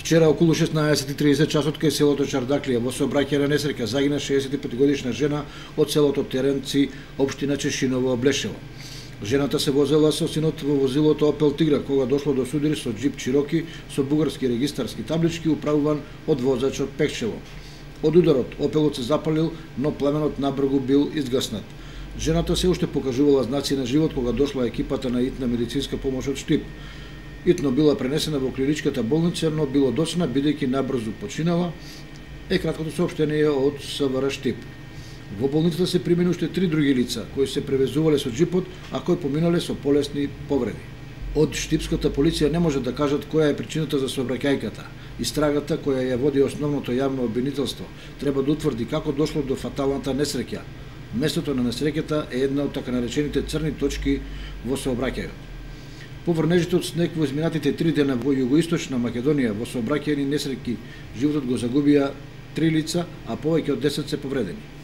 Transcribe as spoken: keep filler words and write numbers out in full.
Вчера околу шеснаесет и тридесет часот кај селото Чардаклија во сообраќајна несреќа загина шеесет и пет годишна жена од селото Теренци, општина Чешиново, Блешево. Жената се возела со синот во возилото Опел Тигра кога дошло до судир со џип Чироки со бугарски регистарски таблички управуван од возачот Пекчево. Од ударот Опелот се запалил, но пламенот набрзо бил изгаснат. Жената се уште покажувала знаци на живот кога дошла екипата на итна медицинска помош од Штип. Итно била пренесена во клиничката болница, но било доцна бидејќи набрзо починала, е краткото соопштение од СВР Штип. Во болницата се примени уште три други лица кои се превезувале со џипот, а кои поминале со полесни повреди. Од штипската полиција не може да кажат која е причината за сообраќајката. Истрагата која ја води основното јавно обвинителство треба да утврди како дошло до фаталната несреќа. Местото на несреќата е една од така наречените црни точки во сообраќајот. По врнежите од снег во изминатите три дена во југоисточна Македонија во сообраќајни несреќи животот го загубија три лица, а повеќе од десет се повредени.